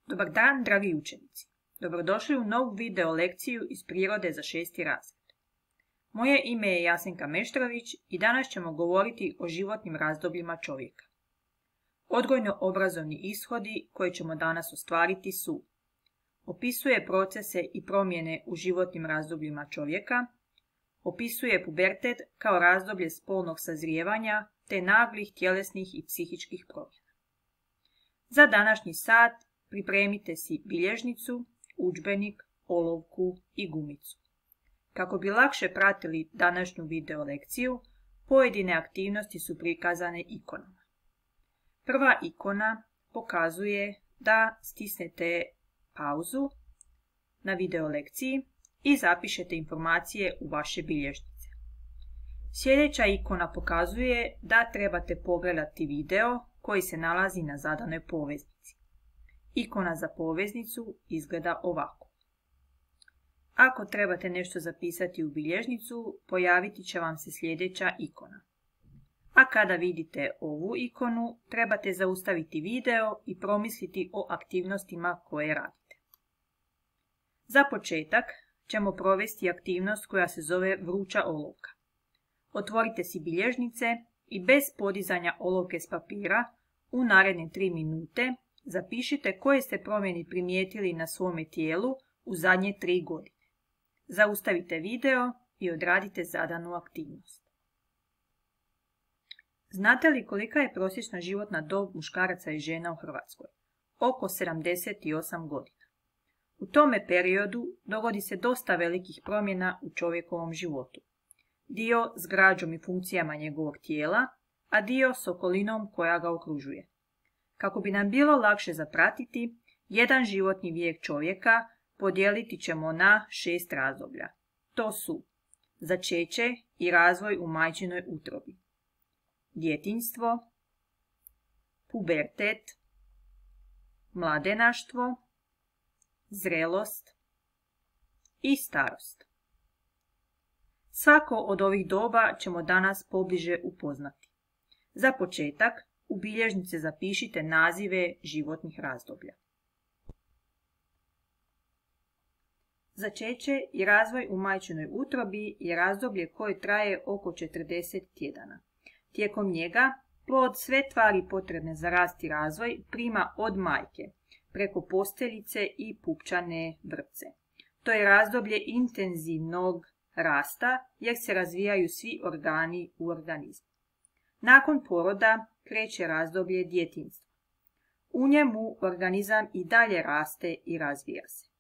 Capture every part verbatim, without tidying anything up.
Dobar dan, dragi učenici. Dobrodošli u novu video lekciju iz prirode za šesti razred. Moje ime je Jasenka Meštrović i danas ćemo govoriti o životnim razdobljima čovjeka. Odgojno-obrazovni ishodi koje ćemo danas ostvariti su: opisuje procese i promjene u životnim razdobljima čovjeka, opisuje pubertet kao razdoblje spolnog sazrijevanja te naglih tjelesnih i psihičkih promjena. Za današnji sat pripremite si bilježnicu, udžbenik, olovku i gumicu. Kako bi lakše pratili današnju video lekciju, pojedine aktivnosti su prikazane ikonama. Prva ikona pokazuje da stisnete pauzu na video lekciji i zapišete informacije u vaše bilježnice. Sljedeća ikona pokazuje da trebate pogledati video koji se nalazi na zadanoj poveznici. Ikona za poveznicu izgleda ovako. Ako trebate nešto zapisati u bilježnicu, pojaviti će vam se sljedeća ikona. A kada vidite ovu ikonu, trebate zaustaviti video i promisliti o aktivnostima koje radite. Za početak ćemo provesti aktivnost koja se zove vruća olovka. Otvorite si bilježnice i bez podizanja olovke s papira u naredne tri minute zapišite koje ste promjene primijetili na svome tijelu u zadnje tri godine. Zaustavite video i odradite zadanu aktivnost. Znate li kolika je prosječna životna dob muškaraca i žena u Hrvatskoj? Oko sedamdeset osam godina. U tome periodu dogodi se dosta velikih promjena u čovjekovom životu. Dio s građom i funkcijama njegovog tijela, a dio s okolinom koja ga okružuje. Kako bi nam bilo lakše zapratiti, jedan životni vijek čovjeka podijeliti ćemo na šest razdoblja. To su začeće i razvoj u majčinoj utrobi, djetinjstvo, pubertet, mladenaštvo, zrelost i starost. Svako od ovih doba ćemo danas pobliže upoznati. Za početak, u bilježnice zapišite nazive životnih razdoblja. Začeće i razvoj u majčinoj utrobi je razdoblje koje traje oko četrdeset tjedana. Tijekom njega plod sve tvari potrebne za rast i razvoj prima od majke, preko posteljice i pupčane vrpce. To je razdoblje intenzivnog rasta jer se razvijaju svi organi u organizmu. Nakon poroda kreće razdoblje djetinjstva. U njemu organizam i dalje raste i razvija se.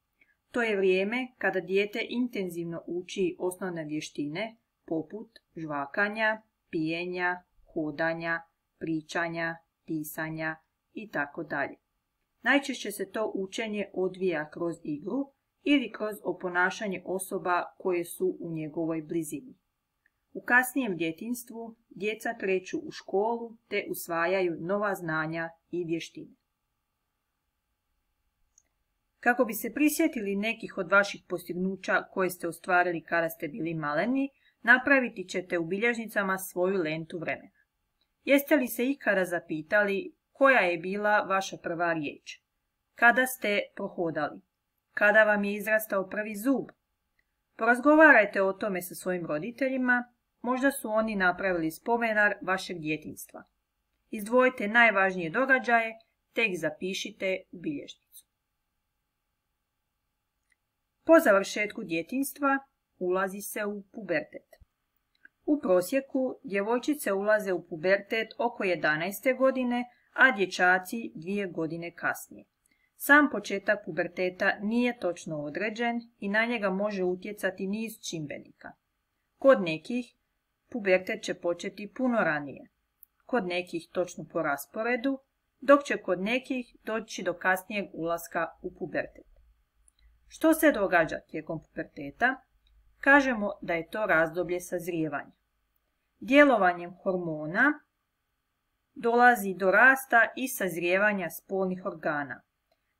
To je vrijeme kada dijete intenzivno uči osnovne vještine poput žvakanja, pijenja, hodanja, pričanja, pisanja itd. Najčešće se to učenje odvija kroz igru ili kroz oponašanje osoba koje su u njegovoj blizini. U kasnijem djetinjstvu djeca kreću u školu te usvajaju nova znanja i vještine. Kako bi se prisjetili nekih od vaših postignuća koje ste ostvarili kada ste bili maleni, napraviti ćete u bilježnicama svoju lentu vremena. Jeste li se ikada zapitali koja je bila vaša prva riječ? Kada ste prohodali? Kada vam je izrastao prvi zub? Porazgovarajte o tome sa svojim roditeljima, možda su oni napravili spomenar vašeg djetinjstva. Izdvojite najvažnije događaje te ih zapišite u bilježnicu. Po završetku djetinjstva ulazi se u pubertet. U prosjeku djevojčice ulaze u pubertet oko jedanaeste godine, a dječaci dvije godine kasnije. Sam početak puberteta nije točno određen i na njega može utjecati niz čimbenika. Kod nekih pubertet će početi puno ranije, kod nekih točno po rasporedu, dok će kod nekih doći do kasnijeg ulaska u pubertet. Što se događa tijekom puberteta? Kažemo da je to razdoblje sazrijevanja. Djelovanjem hormona dolazi do rasta i sazrijevanja spolnih organa,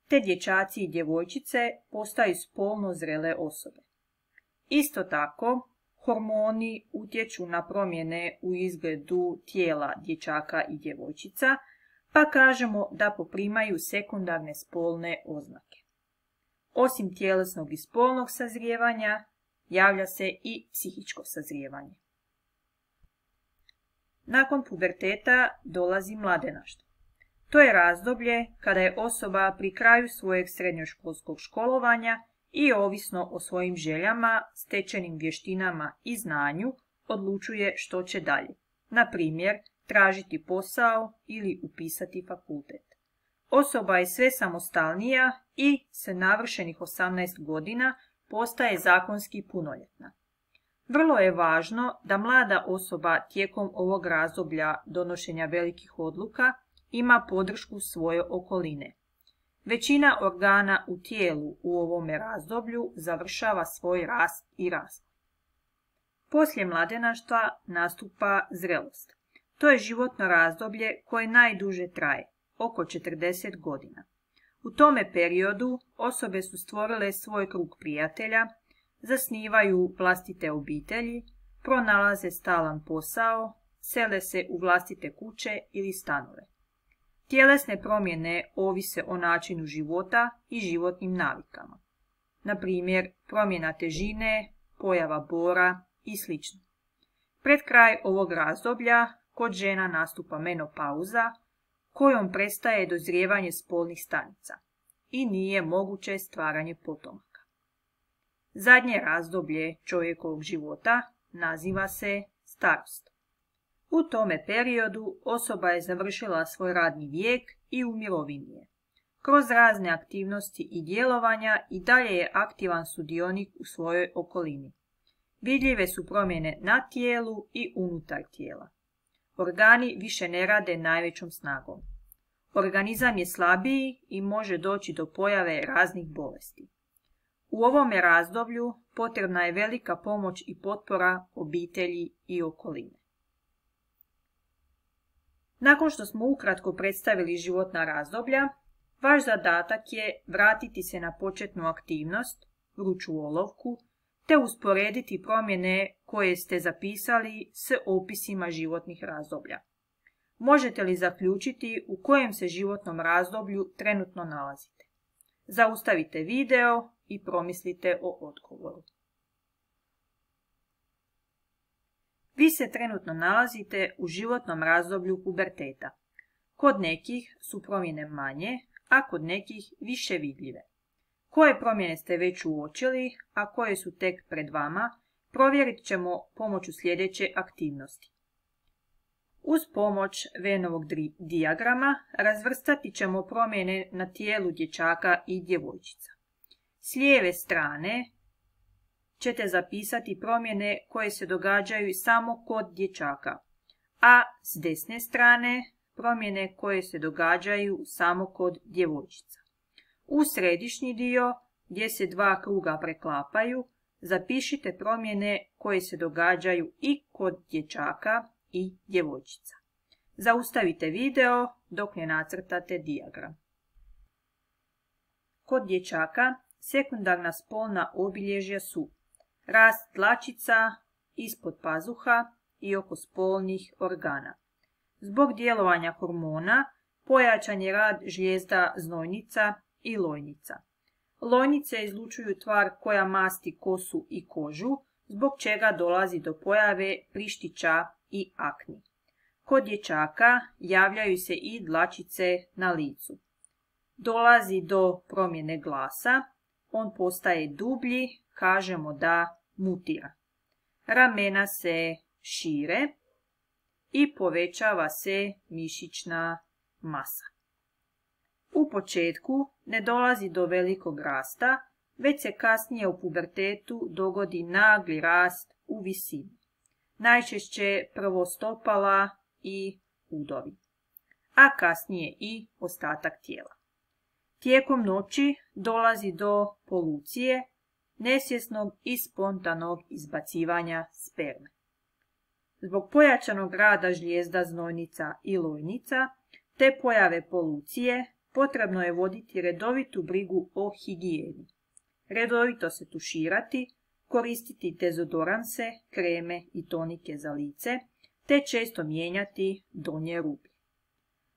te dječaci i djevojčice postaju spolno zrele osobe. Isto tako, hormoni utječu na promjene u izgledu tijela dječaka i djevojčica, pa kažemo da poprimaju sekundarne spolne oznake. Osim tjelesnog i spolnog sazrijevanja, javlja se i psihičko sazrijevanje. Nakon puberteta dolazi mladenaštvo. To je razdoblje kada je osoba pri kraju svojeg srednjoškolskog školovanja i ovisno o svojim željama, stečenim vještinama i znanju odlučuje što će dalje. Na primjer, tražiti posao ili upisati fakultet. Osoba je sve samostalnija i sa navršenih osamnaest godina postaje zakonski punoljetna. Vrlo je važno da mlada osoba tijekom ovog razdoblja donošenja velikih odluka ima podršku svoje okoline. Većina organa u tijelu u ovome razdoblju završava svoj rast i razvoj. Poslije mladenaštva nastupa zrelost. To je životno razdoblje koje najduže traje, oko četrdeset godina. U tome periodu osobe su stvorile svoj krug prijatelja, zasnivaju vlastite obitelji, pronalaze stalan posao, sele se u vlastite kuće ili stanove. Tjelesne promjene ovise o načinu života i životnim navikama. Na primjer, promjena težine, pojava bora i sl. Pred kraj ovog razdoblja kod žena nastupa menopauza, kojom prestaje dozrijevanje spolnih stanica i nije moguće stvaranje potomaka. Zadnje razdoblje čovjekovog života naziva se starost. U tome periodu osoba je završila svoj radni vijek i u mirovini je. Kroz razne aktivnosti i djelovanja i dalje je aktivan sudionik u svojoj okolini. Vidljive su promjene na tijelu i unutar tijela. Organi više ne rade najvećom snagom. Organizam je slabiji i može doći do pojave raznih bolesti. U ovome razdoblju potrebna je velika pomoć i potpora obitelji i okoline. Nakon što smo ukratko predstavili životna razdoblja, vaš zadatak je vratiti se na početnu aktivnost, vruću olovku, te usporediti promjene koje ste zapisali s opisima životnih razdoblja. Možete li zaključiti u kojem se životnom razdoblju trenutno nalazite? Zaustavite video i promislite o odgovoru. Vi se trenutno nalazite u životnom razdoblju puberteta. Kod nekih su promjene manje, a kod nekih više vidljive. Koje promjene ste već uočili, a koje su tek pred vama, provjerit ćemo pomoću sljedeće aktivnosti. Uz pomoć Vennovog dijagrama razvrstati ćemo promjene na tijelu dječaka i djevojčica. S lijeve strane ćete zapisati promjene koje se događaju samo kod dječaka, a s desne strane promjene koje se događaju samo kod djevojčica. U središnji dio, gdje se dva kruga preklapaju, zapišite promjene koje se događaju i kod dječaka i djevojčica. Zaustavite video dok ne nacrtate dijagram. Kod dječaka sekundarna spolna obilježja su rast dlačica ispod pazuha i oko spolnih organa. Zbog djelovanja hormona pojačan je rad žlijezda znojnica i lojnica. Lojnice izlučuju tvar koja masti kosu i kožu, zbog čega dolazi do pojave prištića i akni. Kod dječaka javljaju se i dlačice na licu. Dolazi do promjene glasa, on postaje dublji, kažemo da mutira. Ramena se šire i povećava se mišićna masa. U početku ne dolazi do velikog rasta, već se kasnije u pubertetu dogodi nagli rast u visini. Najčešće prvo stopala i udovi, a kasnije i ostatak tijela. Tijekom noći dolazi do polucije, nesvjesnog i spontanog izbacivanja sperme. Zbog pojačanog rada žlijezda znojnica i lojnica, te pojave polucije, potrebno je voditi redovitu brigu o higijeni. Redovito se tuširati, koristiti dezodoranse, kreme i tonike za lice, te često mijenjati donje rublje.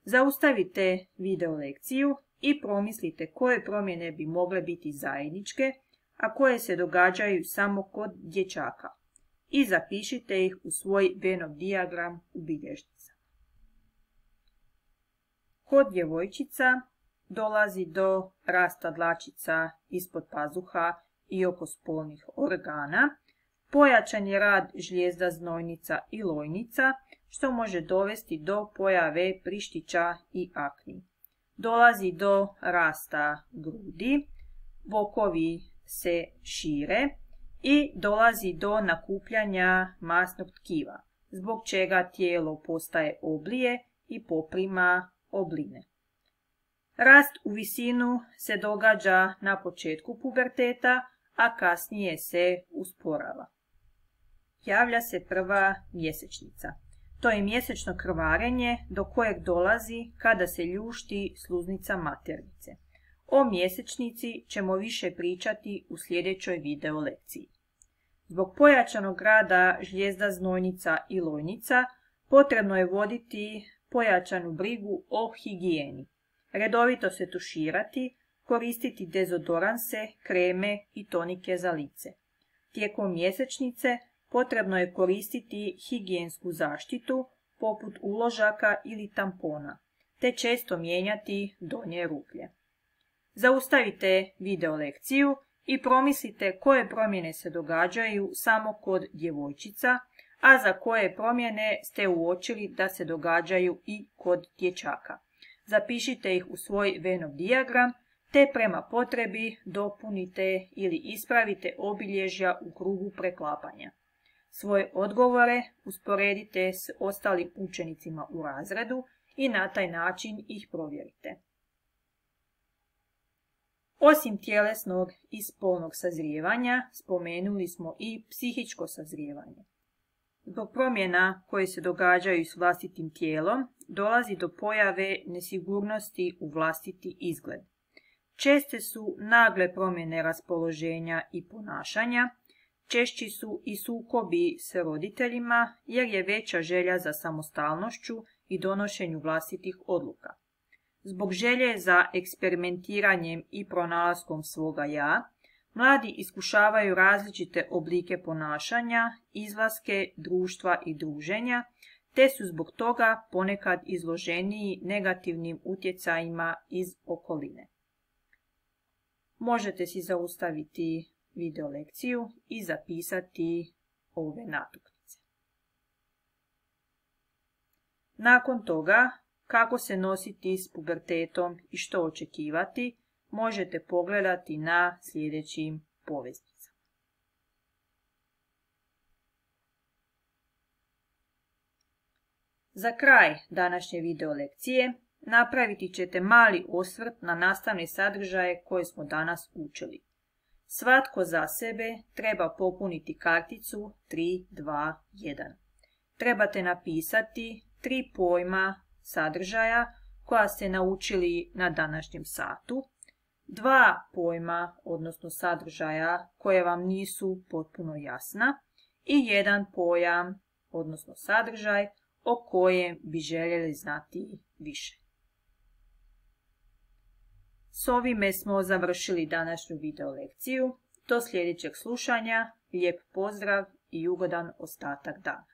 Zaustavite video lekciju i promislite koje promjene bi mogle biti zajedničke, a koje se događaju samo kod dječaka. I zapišite ih u svoj Venn dijagram u bilježnicama. Kod djevojčica dolazi do rasta dlačica ispod pazuha i oko spolnih organa. Pojačan je rad žlijezda znojnica i lojnica, što može dovesti do pojave prištića i akni. Dolazi do rasta grudi, bokovi se šire i dolazi do nakupljanja masnog tkiva, zbog čega tijelo postaje oblije i poprima obline. Rast u visinu se događa na početku puberteta, a kasnije se usporava. Javlja se prva mjesečnica. To je mjesečno krvarenje do kojeg dolazi kada se ljušti sluznica maternice. O mjesečnici ćemo više pričati u sljedećoj video lekciji. Zbog pojačanog rada žlijezda znojnica i lojnica potrebno je voditi pojačanu brigu o higijeni. Redovito se tuširati, koristiti dezodoranse, kreme i tonike za lice. Tijekom mjesečnice potrebno je koristiti higijensku zaštitu poput uložaka ili tampona, te često mijenjati donje rublje. Zaustavite video lekciju i promislite koje promjene se događaju samo kod djevojčica, a za koje promjene ste uočili da se događaju i kod dječaka. Zapišite ih u svoj Venn dijagram, te prema potrebi dopunite ili ispravite obilježja u krugu preklapanja. Svoje odgovore usporedite s ostalim učenicima u razredu i na taj način ih provjerite. Osim tjelesnog i spolnog sazrijevanja, spomenuli smo i psihičko sazrijevanje. Zbog promjena koje se događaju s vlastitim tijelom, dolazi do pojave nesigurnosti u vlastiti izgled. Česte su nagle promjene raspoloženja i ponašanja, češći su i sukobi s roditeljima jer je veća želja za samostalnošću i donošenju vlastitih odluka. Zbog želje za eksperimentiranjem i pronalaskom svoga ja, mladi iskušavaju različite oblike ponašanja, izlaske, društva i druženja, te su zbog toga ponekad izloženiji negativnim utjecajima iz okoline. Možete si zaustaviti video lekciju i zapisati ove natuknice. Nakon toga, kako se nositi s pubertetom i što očekivati, možete pogledati na sljedećim poveznicama. Za kraj današnje video lekcije napraviti ćete mali osvrt na nastavne sadržaje koje smo danas učili. Svatko za sebe treba popuniti karticu tri dva jedan. Trebate napisati tri pojma sadržaja koja ste naučili na današnjem satu, dva pojma, odnosno sadržaja koje vam nisu potpuno jasna i jedan pojam, odnosno sadržaj o kojem bi željeli znati više. S ovime smo završili današnju video lekciju. Do sljedećeg slušanja, lijep pozdrav i ugodan ostatak dana.